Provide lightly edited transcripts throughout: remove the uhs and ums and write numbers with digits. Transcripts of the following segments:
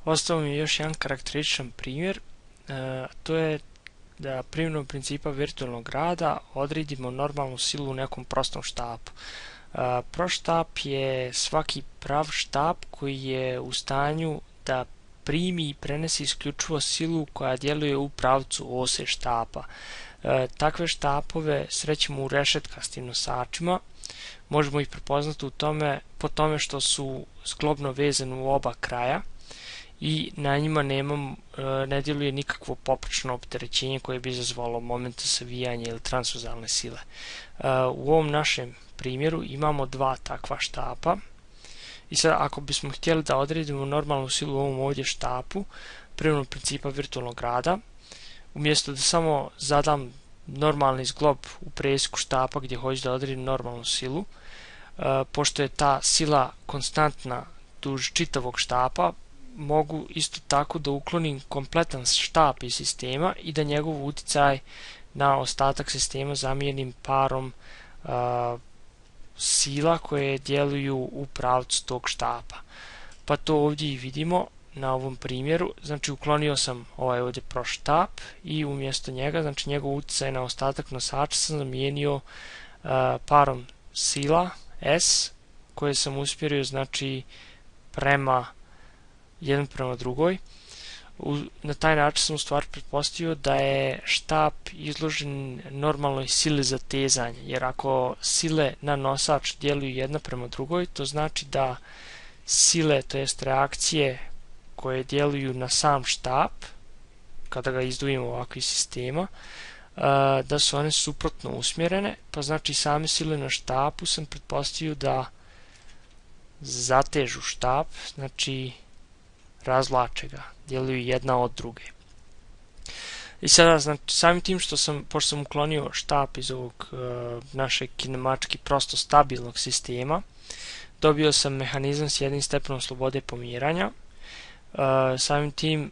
Ostao mi je još jedan karakterističan primjer, to je da primjenom principa virtualnog rada odredimo normalnu silu u nekom prostom štapu. Prost štap je svaki prav štap koji je u stanju da primi i prenese isključivo silu koja djeluje u pravcu ose štapa. Takve štapove srećemo u rešetkastim nosačima. Možemo ih prepoznati po tome što su zglobno vezani u oba kraja i na njima ne djeluje nikakvo poprečno opterećenje koje bi izazvalo momente savijanja ili transverzalne sile. U ovom našem primjeru imamo dva takva štapa i sad ako bismo htjeli da odredimo normalnu silu u ovom ovdje štapu primjenom principa virtualnog rada, umjesto da samo zadam normalni zglob u presjeku štapa gdje hoću da odredim normalnu silu, pošto je ta sila konstantna duž čitavog štapa, mogu isto tako da uklonim kompletan štap iz sistema i da njegov utjecaj na ostatak sistema zamijenim parom sila koje djeluju u pravcu tog štapa. Pa to ovdje i vidimo na ovom primjeru. Znači uklonio sam ovaj ovdje prost štap i umjesto njega, znači njegov utjecaj na ostatak nosača sam zamijenio parom sila S koje sam usmjerio znači prema jedan prema drugoj. Na taj način sam u stvari pretpostavio da je štap izložen normalnoj sili zatezanja, jer ako sile na nosač djeluju jedna prema drugoj, to znači da sile, to jest reakcije koje djeluju na sam štap, kada ga izdvojimo ovako iz sistema, da su one suprotno usmjerene, pa znači same sile na štapu sam pretpostavio da zatežu štap, znači razvlače ga, djeluju jedna od druge. I sada, znači, samim tim pošto sam uklonio štap iz ovog našeg kinemački prosto stabilnog sistema, dobio sam mehanizam s jednim stepenom slobode pomjeranja. Samim tim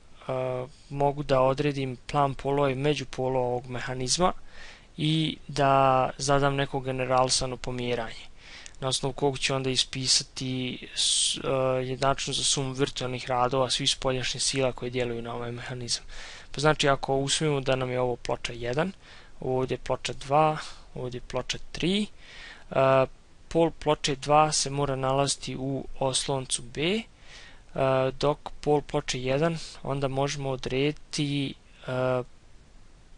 mogu da odredim plan polova i međupolova ovog mehanizma i da zadam neko generalisano pomjeranje, na osnovu kog ću onda ispisati jednačinu za sumu virtualnih radova svih spoljašnjih sila koje djeluju na ovaj mehanizam. Pa znači ako usvojimo da nam je ovo ploča 1, ovdje ploča 2, ovdje ploča 3, pol ploče 2 se mora nalaziti u osloncu B, dok pol ploče 1 onda možemo odrediti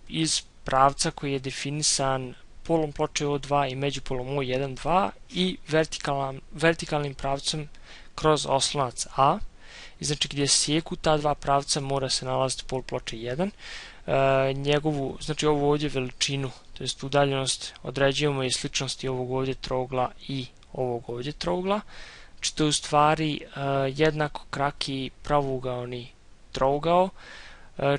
iz pravca koji je definisan polom ploče O2 i međupolom O1, 2 i vertikalnim pravcem kroz oslonac A. I znači gdje sjeku ta dva pravca mora se nalaziti pol ploče 1. Znači ovu ovdje veličinu, to jest udaljenost, određujemo i sličnosti ovog ovdje trougla i ovog ovdje trougla. Znači to je u stvari jednako kraki pravougaoni trougao,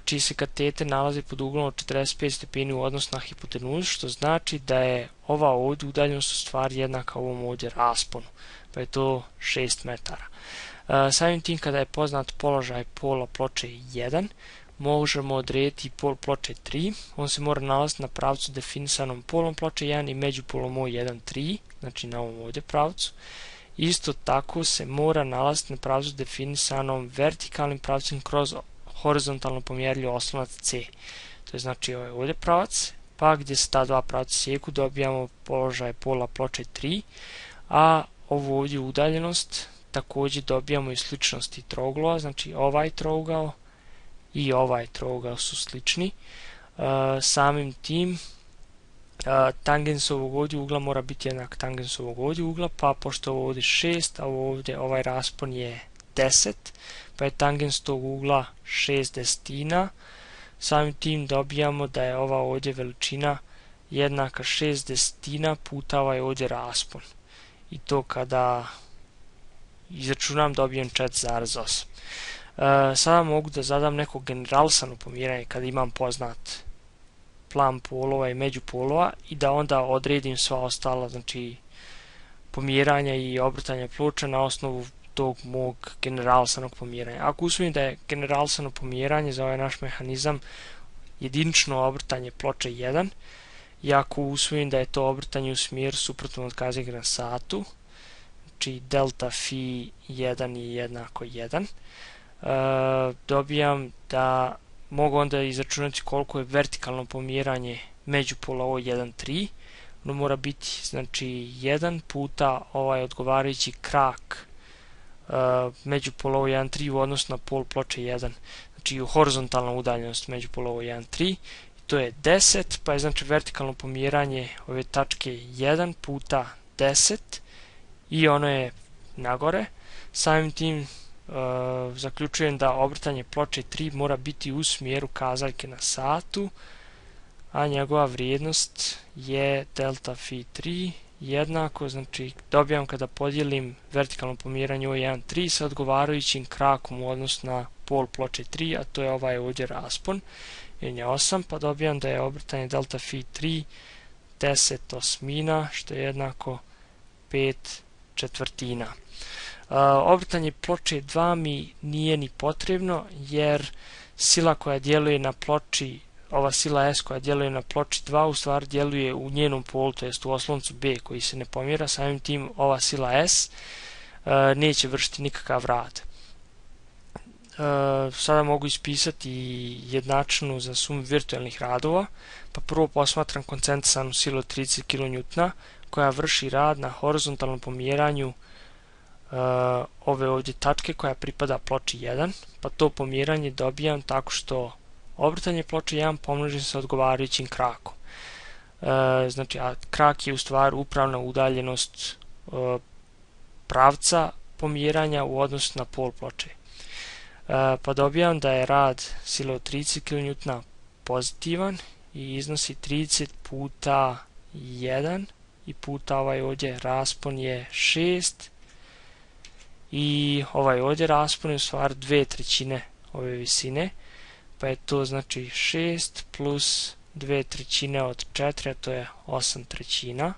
čiji se kateter nalazi pod uglom od 45 stepeni u odnosu na hipotenuzu, što znači da je ova ovdje udaljenost u stvari jednaka ovom ovdje rasponu, pa je to 6 metara. Samim tim kada je poznat položaj pola ploče 1, možemo odrediti pol ploče 3, on se mora nalaziti na pravcu definisanom polom ploče 1 i međupolom O1, 3, znači na ovom ovdje pravcu. Isto tako se mora nalaziti na pravcu definisanom vertikalnim pravcem kroz horizontalno pomjerljiv oslonac C. To je znači ovaj ovdje pravac, pa gdje se ta dva pravca sjeku dobijamo položaj pola ploče 3, a ovu ovdje udaljenost također dobijamo i sličnosti trouglova, znači ovaj trougao i ovaj trougao su slični. Samim tim tangens ovog ovdje ugla mora biti jednak tangens ovog ovdje ugla, pa pošto ovo ovdje 6, a ovdje ovaj raspon je 10, pa je tangens tog ugla 6 desetina. Samim tim dobijamo da je ova ovdje veličina jednaka 6 desetina puta ovaj ovdje raspon. I to kada izračunam dobijem 4,8. Sada mogu da zadam neko generalisano pomjeranje kada imam poznat plan polova i međupolova i da onda odredim sva ostala, znači pomjeranja i obrtanja ploča na osnovu tog mog generalisanog pomjeranja. Ako usvojim da je generalisano pomjeranje za ovaj naš mehanizam jedinično obrtanje ploče 1, i ako usvojim da je to obrtanje u smjeru suprotno od kazige na satu, znači delta phi 1 je jednako 1, dobijam da mogu onda izračunati koliko je vertikalno pomjeranje međupola ovo 1,3. Ono mora biti znači 1 puta ovaj odgovarajući krak međupola ovo 1,3 u odnosu na pol ploče 1. Znači horizontalna udaljenost međupola ovo 1,3. To je 10, pa je znači vertikalno pomjeranje ove tačke 1 puta 10 i ono je nagore. Samim tim zaključujem da obrtanje ploče 3 mora biti u smjeru kazaljke na satu, a njegova vrijednost je delta phi 3 jednako, znači dobijam kada podijelim vertikalno pomjeranje ovo 1,3 sa odgovarajućim krakom u odnosu na pol ploče 3, a to je ovaj ovdje raspon, je 8, pa dobijam da je obrtanje delta phi 3 10 osmina, što je jednako 5/4. Obrtanje ploče 2 mi nije ni potrebno, jer sila koja djeluje na ploči, ova sila S koja djeluje na ploči 2 u stvari djeluje u njenom polu, to jest u osloncu B koji se ne pomjera, samim tim ova sila S neće vršiti nikakav rad. Sada mogu ispisati jednačinu za sumu virtualnih radova, pa prvo posmatram koncentrisanu silu 30 kN koja vrši rad na horizontalnom pomjeranju ove ovdje tačke koja pripada ploči 1, pa to pomjeranje dobijam tako što obrtanje ploče 1 pomnožim sa odgovarajućim krakom. Znači, a krak je u stvari upravna udaljenost pravca pomjeranja u odnosu na pol ploče. Pa dobijam da je rad sile od 30 kN pozitivan i iznosi 30 puta 1 i puta ovaj ovdje raspon je 6 i ovaj ovdje raspon je u stvari 2/3 ove visine, pa je to znači 6 plus 2/3 od 4, a to je 8/3.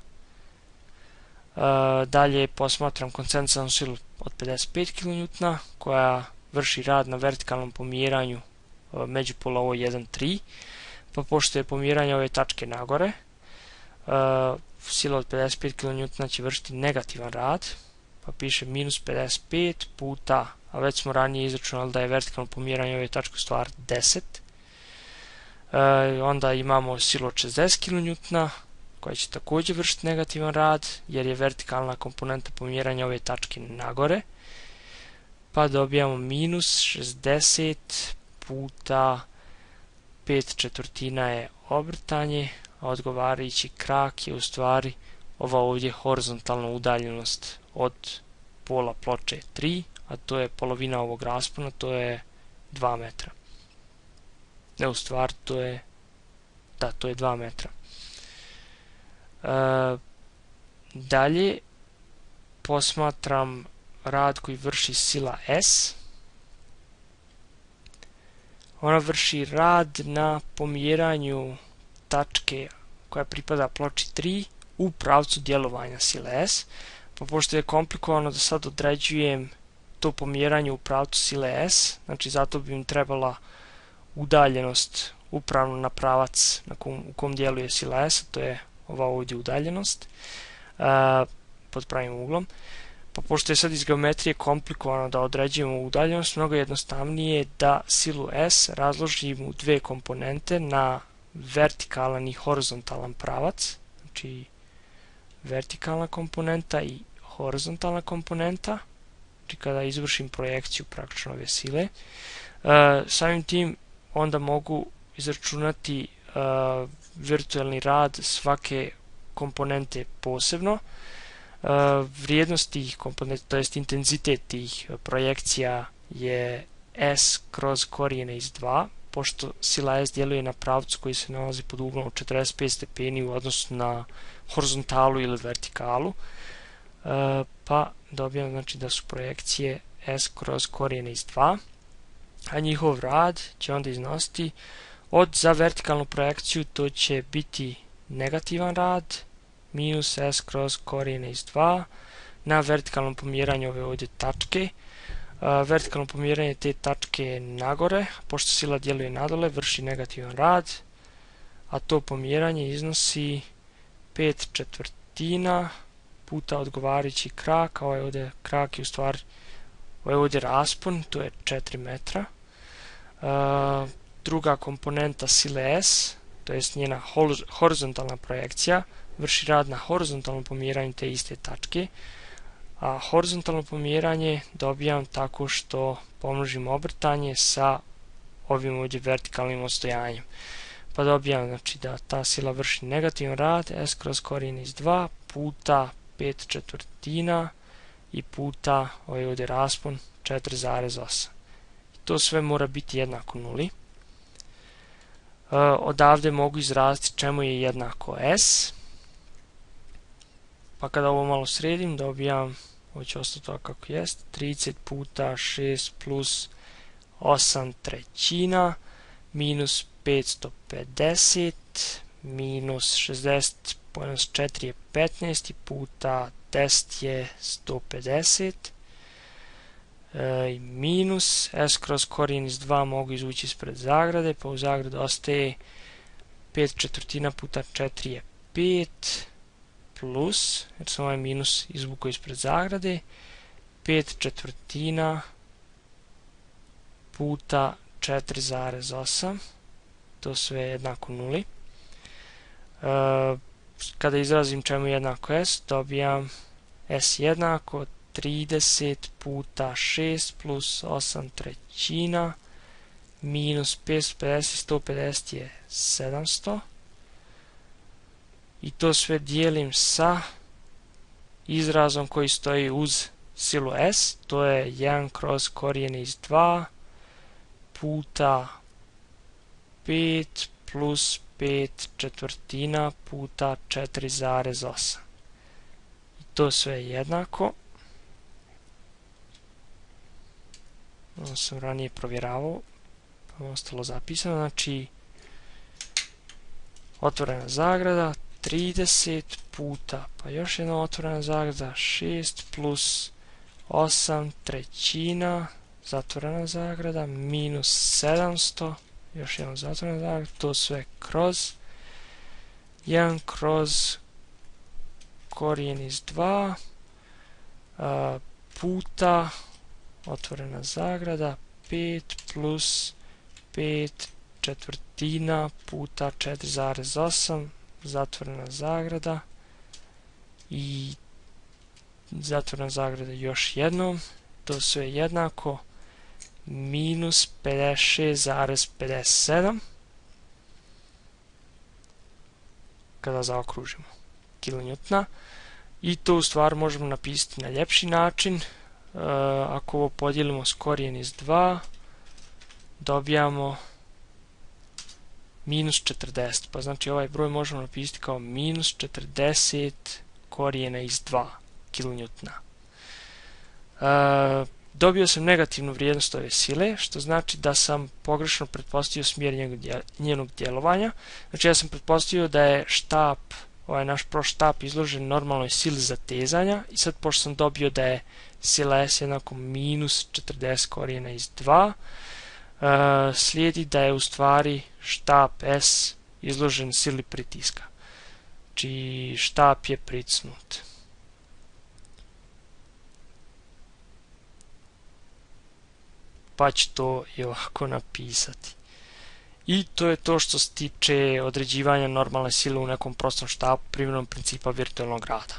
Dalje posmatram koncentrisanu silu od 55 kN koja vrši rad na vertikalnom pomjeranju međupola ovo 1,3, pa pošto je pomjeranje ove tačke nagore, sila od 55 kN će vršiti negativan rad, pa piše minus 55 puta, a već smo ranije izračunali da je vertikalno pomjeranje ove tačke u stvari 10. Onda imamo silu od 60 kN koja će također vršiti negativan rad jer je vertikalna komponenta pomjeranja ove tačke nagore, pa dobijamo minus 60 puta 5/4 je obrtanje, a odgovarajući krak je u stvari ova ovdje horizontalna udaljenost od pola ploče 3, a to je polovina ovog raspona, to je 2 metra. Ne, u stvari to je 2 metra. Dalje posmatram rad koji vrši sila S. Ona vrši rad na pomjeranju tačke koja pripada ploči 3 u pravcu djelovanja sile S, pa pošto je komplikovano da sad određujem to pomjeranje u pravcu sile S, znači zato bi im trebala udaljenost upravno na pravac u kom djeluje sila S, to je ova ovdje udaljenost pod pravim uglom. Pa pošto je sad iz geometrije komplikovano da određujemo udaljenost, mnogo jednostavnije je da silu S razložimo u dve komponente na vertikalan i horizontalan pravac, znači vertikalna komponenta i horizontalna komponenta, znači kada izvršim projekciju praktično ove sile. Samim tim onda mogu izračunati virtualni rad svake komponente posebno. Vrijednost tih komponenta, to jest intenzitet tih projekcija je S kroz korijene iz 2, pošto sila S djeluje na pravcu koji se nalazi pod uglom 45 stepeni u odnosu na horizontalu ili vertikalu, pa dobijam znači da su projekcije S kroz korijene iz 2, a njihov rad će onda iznositi za vertikalnu projekciju to će biti negativan rad minus S kroz korijene iz 2 na vertikalnom pomjeranju ove ovdje tačke. Vertikalno pomjeranje te tačke je nagore, pošto sila djeluje nadole, vrši negativan rad, a to pomjeranje iznosi 5/4 puta odgovarajući krak, a ovaj ovdje krak je u stvari Ovo je ovdje raspon, to je 4 metra. Druga komponenta sile S, to je njena horizontalna projekcija, vrši rad na horizontalnom pomjeranju te iste tačke, a horizontalno pomjeranje dobijam tako što pomnožim obrtanje sa ovim ovdje vertikalnim odstojanjem. Pa dobijam znači da ta sila vrši negativan rad S kroz korijen iz 2 puta 5/4 i puta ovaj ovdje raspon 4,8. To sve mora biti jednako nuli. Odavde mogu izraziti čemu je jednako S. Pa kada ovo malo sredim dobijam, ovo će ostati to kako jest, 30 puta 6 plus 8/3 minus 550 minus 60 minus 4 je 15 puta 10 je 150 i minus S kroz korijen iz 2 mogu izvući ispred zagrade, pa u zagradi ostaje 5/4 puta 4 je 5 plus, jer sam ovaj minus izvukao ispred zagrade, 5/4 puta 4,8, to sve je jednako nuli. Kada izrazim čemu je jednako S, dobijam S jednako 30 puta 6 plus 8/3 minus 550, 150 je 700. I to sve dijelim sa izrazom koji stoji uz silu S, to je 1 kroz korijen iz 2 puta 5 plus 5/4 puta 4,8. I to sve je jednako. Ovo sam ranije provjeravao, pa je ostalo zapisano, znači otvorena zagrada 30 puta, pa još jedna otvorena zagrada 6 plus 8/3 zatvorena zagrada minus 700, još jedna zatvorena zagrada, to sve kroz 1 kroz korijen iz 2 puta otvorena zagrada 5 plus 5/4 puta 4,8 zatvorena zagrada i zatvorena zagrada još jednom, to sve jednako minus 56,57 kada zaokružimo kilonewtona. I to u stvari možemo napisati na ljepši način. Ako ovo podijelimo s korijen iz 2 dobijamo minus 40, pa znači ovaj broj možemo napisati kao minus 40 korijena iz 2 kilonewtona. Dobio sam negativnu vrijednost ove sile, što znači da sam pogrešno pretpostavio smjer njenog djelovanja. Znači ja sam pretpostavio da je štap, ovaj naš proštap izložen normalnoj sili zatezanja i sad pošto sam dobio da je sila S jednako minus 40 korijena iz 2, slijedi da je u stvari štap S izložen sili pritiska. Znači štap je pricnut. Pa ću to i ovako napisati. I to je to što se tiče određivanja normalne sile u nekom prostom štapu primjenom principa virtualnog rada.